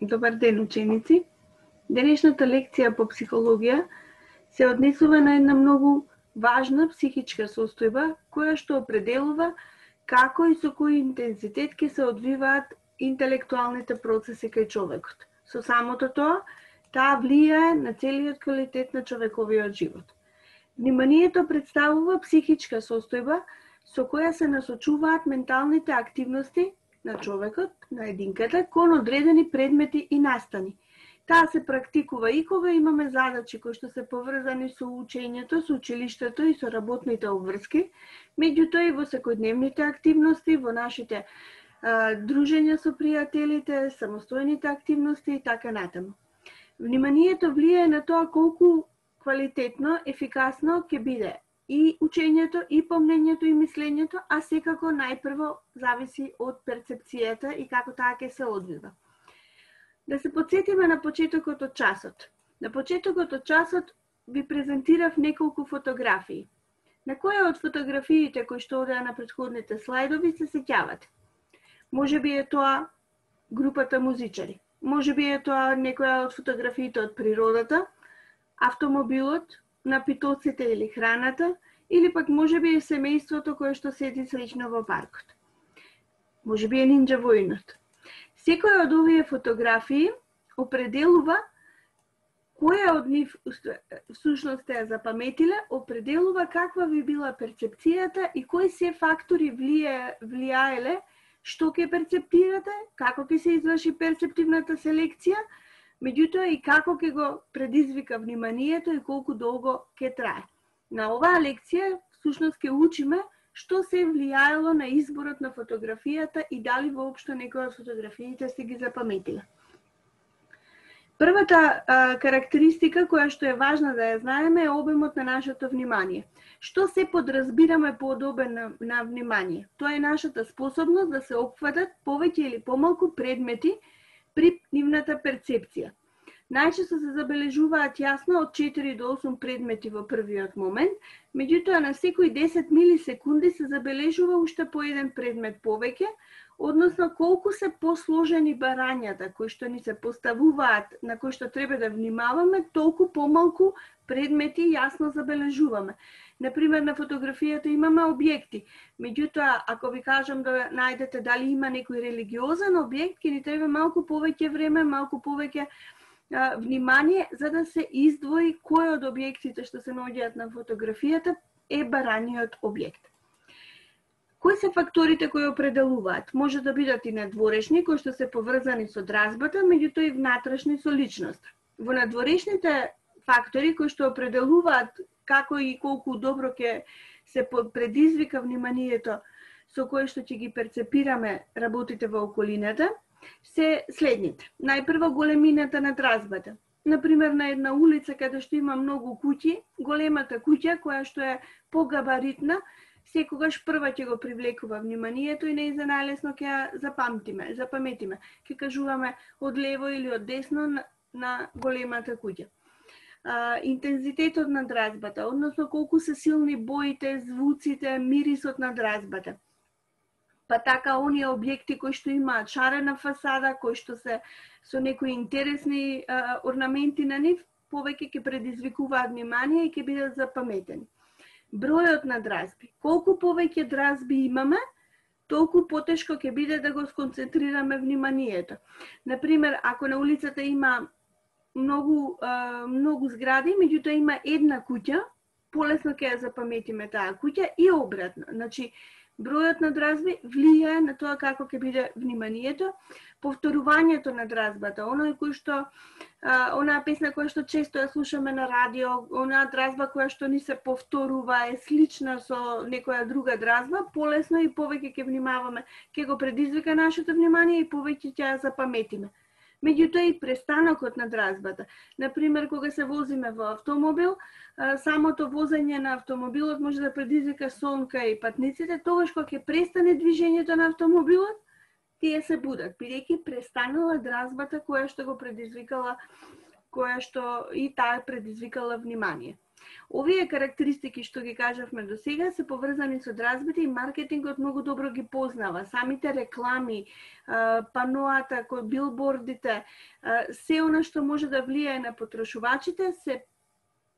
Добар ден, ученици! Денешната лекција по психологија се однесува на една многу важна психичка состојба која што определува како и со кој интензитет ќе се одвиваат интелектуалните процеси кај човекот. Со самото тоа, таа влијае на целиот квалитет на човековиот живот. Вниманието представува психичка состојба со која се насочуваат менталните активности на човекот, на единката, кон одредени предмети и настани. Таа се практикува и кога имаме задачи кои што се поврзани со учењето, со училиштето и со работните обврски, меѓутоа и во секојдневните активности, во нашите дружења со пријателите, самостојните активности и така натаму. Вниманието влијае на тоа колку квалитетно, ефикасно ќе биде и учењето, и помнењето, и мислењето, а секако најпрво зависи од перцепцијата и како таа ќе се одвива. Да се потсетиме на почетокот од часот. На почетокот од часот ви презентирав неколку фотографии. На која од фотографиите кои што одеа на претходните слайдови се сеќавате? Може би е тоа групата музичари. Може би е тоа некоја од фотографиите од природата, автомобилот, напитоците или храната, или пак може би е семејството кое што седи слично во паркот. Може би е нинџа војнот. Секоја од овие фотографии определува која од нив всушност ја запаметиле, определува каква би била перцепцијата и кои се фактори влијаеле што ќе перцептирате, како ќе се изврши перцептивната селекција, меѓутоа и како ќе го предизвика вниманието и колку долго ќе трае. На оваа лекција всушност ќе учиме што се влијаело на изборот на фотографијата и дали воопшто некоја од фотографиите сте ги запаметиле. Првата карактеристика која што е важна да ја знаеме е обемот на нашето внимание. Што се подразбираме под обем на внимание? Тоа е нашата способност да се опфатат повеќе или помалку предмети при нивната перцепција. Најчесто се забележуваат јасно од 4 до 8 предмети во првиот момент, меѓутоа на секои 10 милисекунди се забележува уште по еден предмет повеќе, односно колку се посложени барањата кои што ни се поставуваат, на кои што треба да внимаваме, толку помалку предмети јасно забележуваме. Например, на фотографијата имаме објекти, меѓутоа, ако ви кажам да најдете дали има некој религиозен објект, ќе ни треба малку повеќе време, малку повеќе внимание, за да се издвои кој од објектите што се наоѓаат на фотографијата е бараниот објект. Кои се факторите кои определуваат? Може да бидат и надворешни, кои што се поврзани со дразбата, меѓутоа и внатрешни со личност. Во надворешните фактори кои што определуваат како и колку добро ќе се предизвика вниманието со кое што ќе ги перцепираме работите во околината, се следните. Најпрво големината на дразбата. Например, на една улица каде што има многу куќи, големата куќа која што е погабаритна, секогаш прва ќе го привлекува вниманието и нејза најлесно ќе ја запаметиме. Ќе кажуваме од лево или од десно на големата куќа. Интензитетот на дразбата, односно колку се силни боите, звуците, мирисот на дразбата. Па така оние објекти кои што имаат шарена фасада, кои што се со некои интересни орнаменти на нив, повеќе ќе предизвикуваат внимание и ќе бидат запаметени. Бројот на дразби. Колку повеќе дразби имаме, толку потешко ќе биде да го сконцентрираме вниманието. Например, ако на улицата има многу згради, меѓутоа има една куќа, полесно ќе ја запаметиме таа куќа и обратно. Значи, бројот на дразби влијае на тоа како ќе биде вниманието, повторувањето на дразбата, онаа песна која што често ја слушаме на радио, онаа дразба која што ни се повторува е слична со некоја друга дразба, полесно и повеќе ќе внимаваме, ќе го предизвика нашето внимание и повеќе ќе ја запаметиме. Меѓутоа и престанокот на дразбата. Например, кога се возиме во автомобил, самото возење на автомобилот може да предизвика сон кај патниците, тогаш кога ќе престане движењето на автомобилот, тие се будат, бидејќи престанала дразбата која што го предизвикала, која што и таа предизвикала внимание. Овие карактеристики што ги кажавме до сега се поврзани со одразбите и маркетингот многу добро ги познава. Самите реклами, паноата, билбордите, се она што може да влијае на потрошувачите се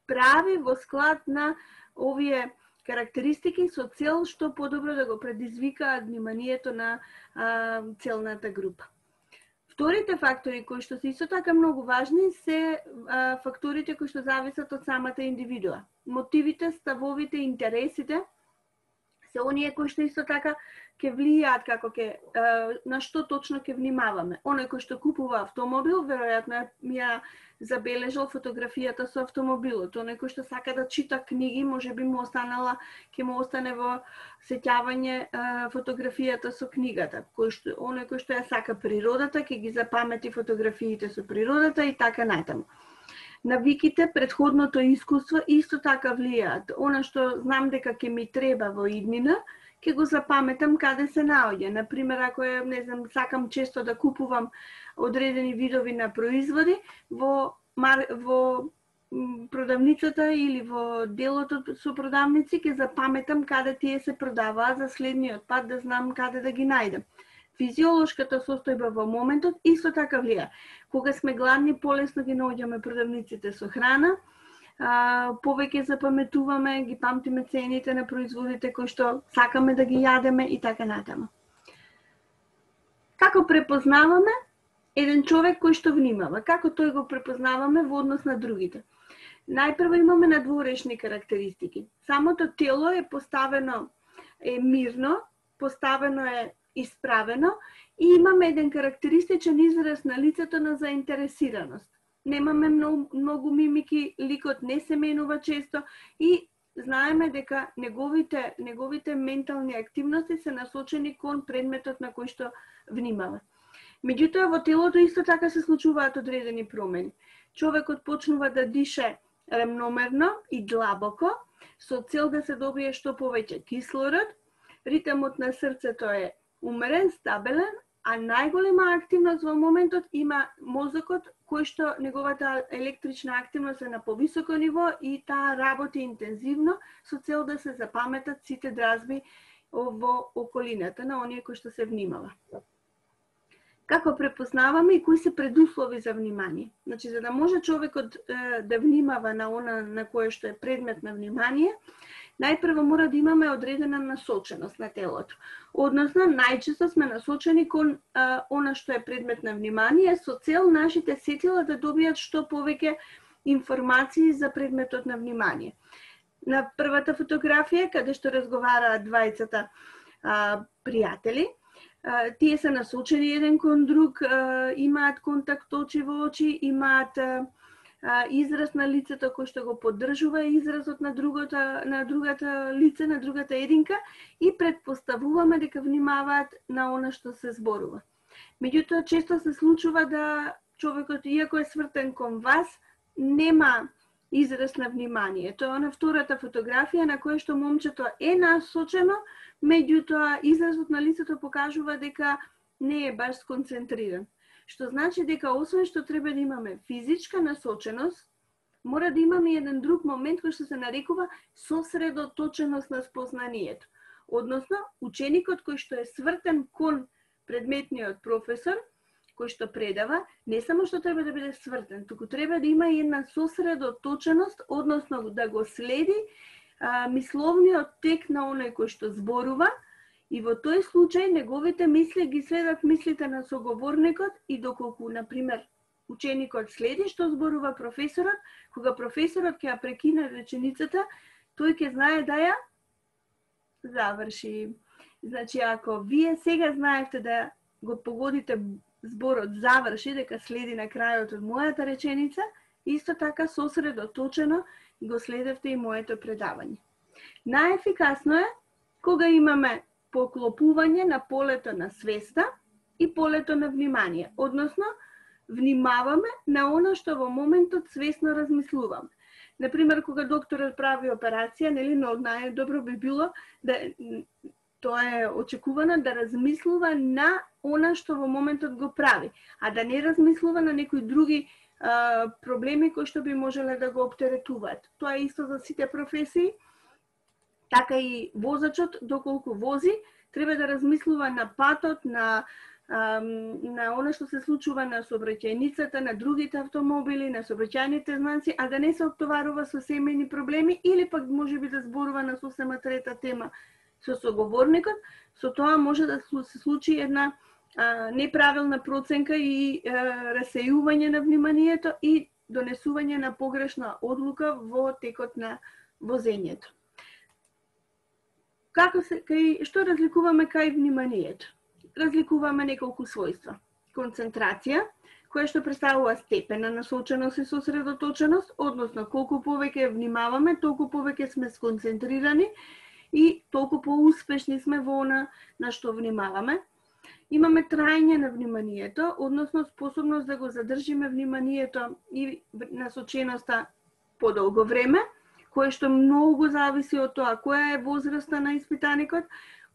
прави во склад на овие карактеристики со цел што подобро да го предизвикаат вниманието на целната група. Вторите фактори кои што се исто така многу важни се факторите кои што зависат од самата индивидуа. Мотивите, ставовите, интересите се оние кои што исто така ќе влијаат како на што точно ќе внимаваме. Оној кој што купува автомобил, веројатно ја забележал фотографијата со автомобилот. Оној кој што сака да чита книги, можеби ќе му остане во сеќавање фотографијата со книгата. Оној кој што ја сака природата, ќе ги запамети фотографиите со природата и така натаму. Навиките, предходното искуство исто така влијаат. Она што знам дека ќе ми треба во иднина, ќе го запаметам каде се наоѓа. Например, ако сакам често да купувам одредени видови на производи, во продавницата или во делот со продавници ќе запаметам каде тие се продаваат за следниот пат да знам каде да ги најдам. Физиолошката состојба во моментот исто така влија. Кога сме гладни, полесно ги наоѓаме продавниците со храна, повеќе запаметуваме, ги памтиме цените на производите кои што сакаме да ги јадеме и така натаму. Како препознаваме еден човек кој што внимава? Како тој го препознаваме во однос на другите? Најпрво имаме надворешни карактеристики. Самото тело е поставено мирно, поставено е исправено и имаме еден карактеристичен израз на лицето на заинтересираност. Немаме многу мимики, ликот не се менува често и знаеме дека неговите ментални активности се насочени кон предметот на кој што внимава. Меѓутоа во телото исто така се случуваат одредени промени. Човекот почнува да дише рамномерно и длабоко со цел да се добие што повеќе кислород. Ритмот на срцето е умерен, стабилен, а најголема активност во моментот има мозокот, кој што неговата електрична активност е на повисоко ниво и таа работи интензивно со цел да се запаметат сите дразби во околината на оние кои што се внимава. Како препознаваме и кои се предуслови за внимание? Значи, за да може човекот да внимава на она на кое што е предмет на внимание, најпрво мора да имаме одредена насоченост на телото. Односно, најчесто сме насочени кон она што е предмет на внимание со цел нашите сетила да добијат што повеќе информации за предметот на внимание. На првата фотографија, каде што разговараат двајцата пријатели, тие се насочени еден кон друг, имаат контакт очи во очи, имаат израз на лицето кој што го поддржува изразот на другата лице, на другата единка и предпоставуваме дека внимаваат на она што се зборува. Меѓутоа, често се случува да човекот, иако е свртен кон вас, нема израз на внимание. Тоа е на втората фотографија на која што момчето е насочено, меѓутоа изразот на лицето покажува дека не е баш сконцентриран. Што значи дека освен што треба да имаме физичка насоченост, мора да имаме еден друг момент кој што се нарекува сосредоточеност на спознанието. Односно, ученикот кој што е свртен кон предметниот професор, кој што предава, не само што треба да биде свртен, туку треба да има една сосредоточеност, односно да го следи мисловниот тек на оној кој што зборува, и во тој случај неговите мисли ги следат мислите на соговорникот и доколку, например, ученикот следи што зборува професорот, кога професорот ќе ја прекине реченицата, тој ќе знае да ја заврши. Значи, ако вие сега знаете да го погодите зборот заврши, дека следи на крајот од мојата реченица, исто така сосредоточено го следевте и моето предавање. Најефикасно е кога имаме поклопување на полето на свеста и полето на внимание. Односно, внимаваме на она што во моментот свесно размислуваме. Например, кога докторот прави операција, но најдобро би било да тоа е очекувано да размислува на она што во моментот го прави, а да не размислува на некои други проблеми кои што би можеле да го оптеретуваат. Тоа е исто за сите професии, така и возачот, доколку вози, треба да размислува на патот, на она што се случува на сообраќајницата, на другите автомобили, на сообраќајните знаци, а да не се оптоварува со семејни проблеми или пак можеби да зборува на сосема трета тема со соговорникот. Со тоа може да се случи една неправилна проценка и расејување на вниманието и донесување на погрешна одлука во текот на возењето. Што разликуваме кај вниманието? Разликуваме неколку својства. Концентрација, која што представува степен на насоченост и сосредоточеност, односно колку повеќе внимаваме, толку повеќе сме сконцентрирани и толку поуспешни сме во она на што внимаваме. Имаме трајање на вниманието, односно способност да го задржиме вниманието и насоченоста подолго време, кое што многу зависи од тоа која е возраста на испитаникот,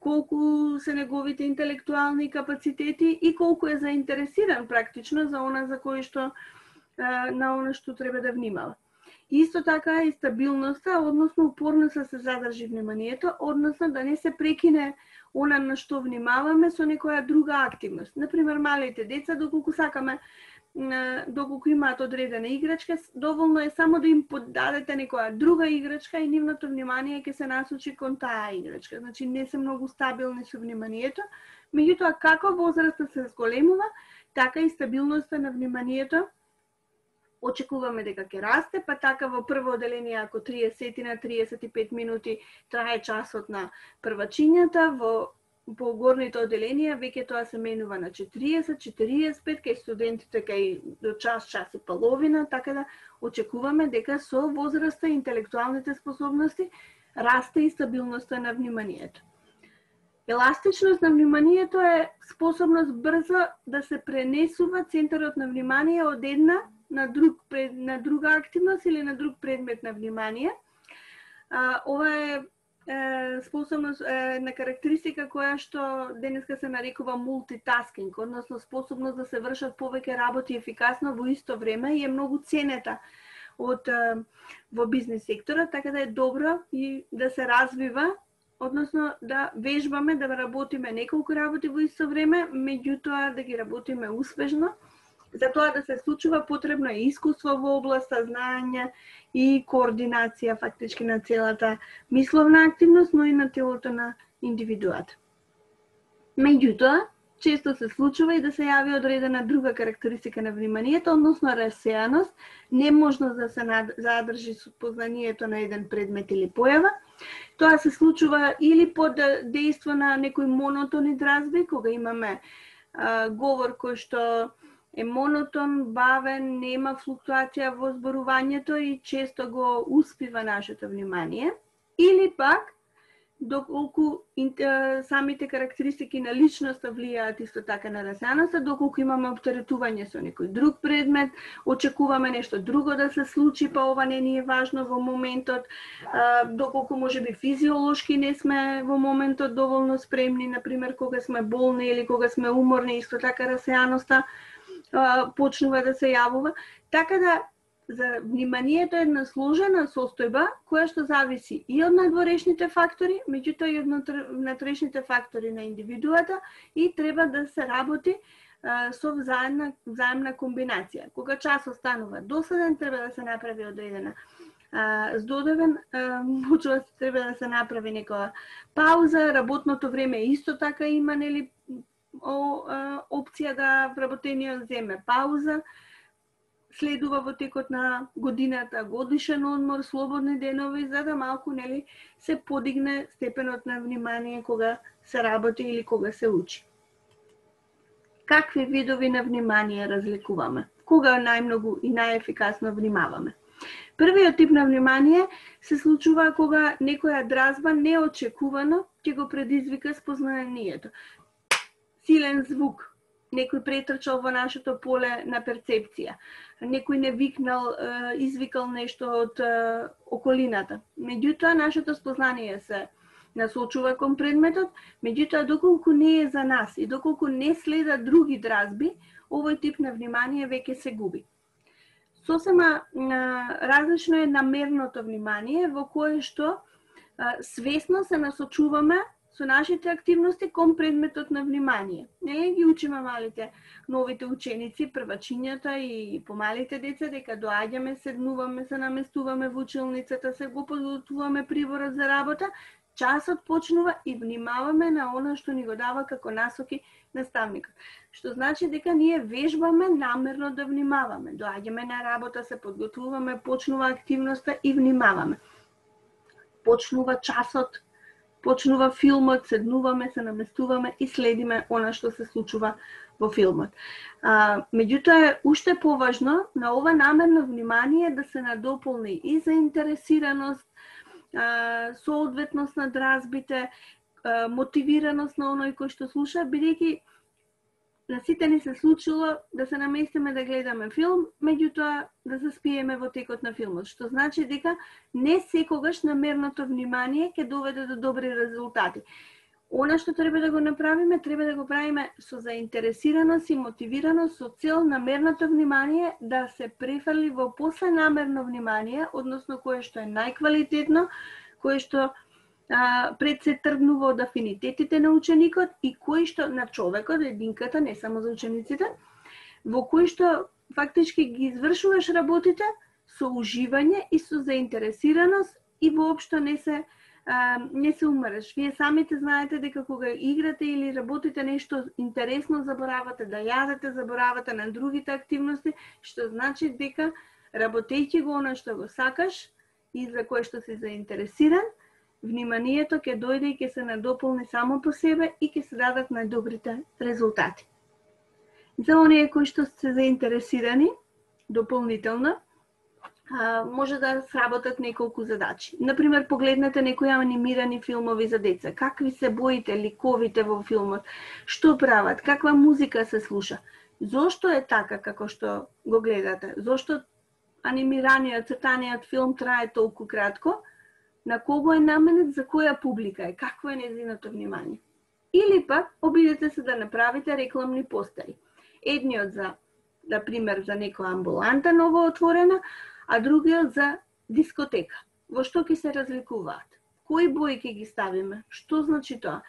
колку се неговите интелектуални капацитети и колку е заинтересиран практично за она за кој што на она што треба да внимава. Исто така и стабилноста, односно упорност да се задржи вниманието, односно да не се прекине она на што внимаваме со некоја друга активност. Например, малите деца, доколку сакаме, доколку имаат одредена играчка, доволно е само да им подадете некоја друга играчка и нивното внимание ќе се насочи кон таа играчка. Значи не се многу стабилни со вниманието. Меѓутоа, како возраста се зголемува, така и стабилноста на вниманието очекуваме дека ќе расте, па така во прво оделение ако 30 на 35 минути трае часот на првачињата, во горните оделенија веќе тоа се менува на 40-45, кај студентите кај до час и половина, така да очекуваме дека со возраста и интелектуалните способности расте и стабилноста на вниманието. Еластичност на вниманието е способност брзо да се пренесува центарот на внимание од една на друга активност или на друг предмет на внимание. Ова е способност на карактеристика која што денеска се нарекува мултитаскинг, односно способност да се вршат повеќе работи ефикасно во исто време и е многу ценета во бизнес секторот, така да е добро и да се развива, односно да вежбаме да работиме неколку работи во исто време, меѓутоа да ги работиме успешно. За тоа да се случува потребно е искуство во областа знаење и координација фактички на целата мисловна активност, но и на телото на индивидуата. Меѓутоа, често се случува и да се јави одредена друга карактеристика на вниманието, односно расеаност, неможност да се задржи познанието на еден предмет или појава. Тоа се случува или под дејство на некои монотони дразби, кога имаме говор кој што е монотон, бавен, нема флуктуација во зборувањето и често го успива нашето внимание. Или пак, доколку самите карактеристики на личноста влијаат исто така на расеаноста, доколку имаме оптеретување со некој друг предмет, очекуваме нешто друго да се случи, па ова не ни е важно во моментот, доколку можеби физиолошки не сме во моментот доволно спремни, например кога сме болни или кога сме уморни, исто така расеаноста почнува да се јавува. Така да за вниманието е една сложена состојба која што зависи и од надворешните фактори, меѓутоа и од внатрешните фактори на индивидуата и треба да се работи со взаемна комбинација. Кога часот станува досаден, треба да се направи одредена здодевен, можува треба да се направи некоја пауза, работното време исто така има нели опција да вработениот земе пауза, следува во текот на годината годишен одмор, слободни денови, за да малку нели се подигне степенот на внимание кога се работи или кога се учи. Какви видови на внимание разликуваме? Кога најмногу и најефикасно внимаваме? Првиот тип на внимание се случува кога некоја дразба неочекувано ќе го предизвика спознанието. Силен звук, некој претрчал во нашето поле на перцепција, некој не викнал, извикал нешто од околината. Меѓутоа, нашето спознание се насочува кон предметот, меѓутоа, доколку не е за нас и доколку не следат други дразби, овој тип на внимание веќе се губи. Сосема различно е намерното внимание, во кое што свесно се насочуваме со нашите активности кон предметот на внимание. Не ги учиме малите, новите ученици, првачињата и помалите деца, дека доаѓаме, седнуваме, се наместуваме во училницата, се го подготвуваме приборот за работа, часот почнува и внимаваме на она што ни го дава како насоки наставникот. Што значи дека ние вежбаме намерно да внимаваме. Доаѓаме на работа, се подготвуваме, почнува активноста и внимаваме. Почнува часот, почнува филмот, седнуваме, се наместуваме и следиме она што се случува во филмот. Меѓутоа е уште поважно на ова намерно внимание да се надополни и заинтересираност, соодветност на дразбите, мотивираност на оној кој што слуша, бидејќи на сите ни се случило да се наместиме да гледаме филм, меѓутоа да заспиеме во текот на филмот, што значи дека не секогаш намерното внимание ќе доведе до добри резултати. Она што треба да го направиме, треба да го правиме со заинтересираност и мотивираност, со цел намерното внимание да се префрли во посленамерно внимание, односно кое што е најквалитетно, кое што пред се тргнува од афинитетите на ученикот и кој што на човекот, единката, не само за учениците, во кој што фактички ги извршуваш работите со уживање и со заинтересираност и воопшто не се умреш. Вие самите знаете дека кога играте или работите нешто интересно, заборавате да јадете, заборавате на другите активности, што значи дека работејќи го она што го сакаш и за кое што си заинтересиран, вниманието ќе дојде и ќе се надополни само по себе и ќе се дадат најдобрите резултати. За оние кои што се заинтересирани дополнително, може да сработат неколку задачи. Например, погледнете некои анимирани филмови за деца. Какви се боите, ликовите во филмот, што прават, каква музика се слуша. Зошто е така како што го гледате? Зошто анимираниот, цртаниот филм трае толку кратко? На кого е наменет, за која публика е, какво е нејзиното внимание. Или пак обидете се да направите рекламни постери. Едниот за, например, за некоја амбуланта ново отворена, а другиот за дискотека. Во што ќе се разликуваат? Кои бои ќе ги ставиме? Што значи тоа?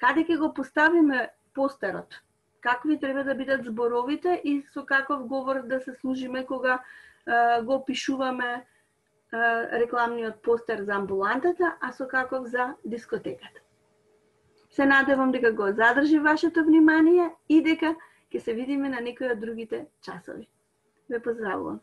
Каде ќе го поставиме постерот? Какви треба да бидат зборовите и со каков говор да се служиме кога го пишуваме рекламниот постер за амбулантата, а со каков за дискотеката. Се надевам дека го задржи вашето внимание и дека ќе се видиме на некои од другите часови. Ве поздравувам.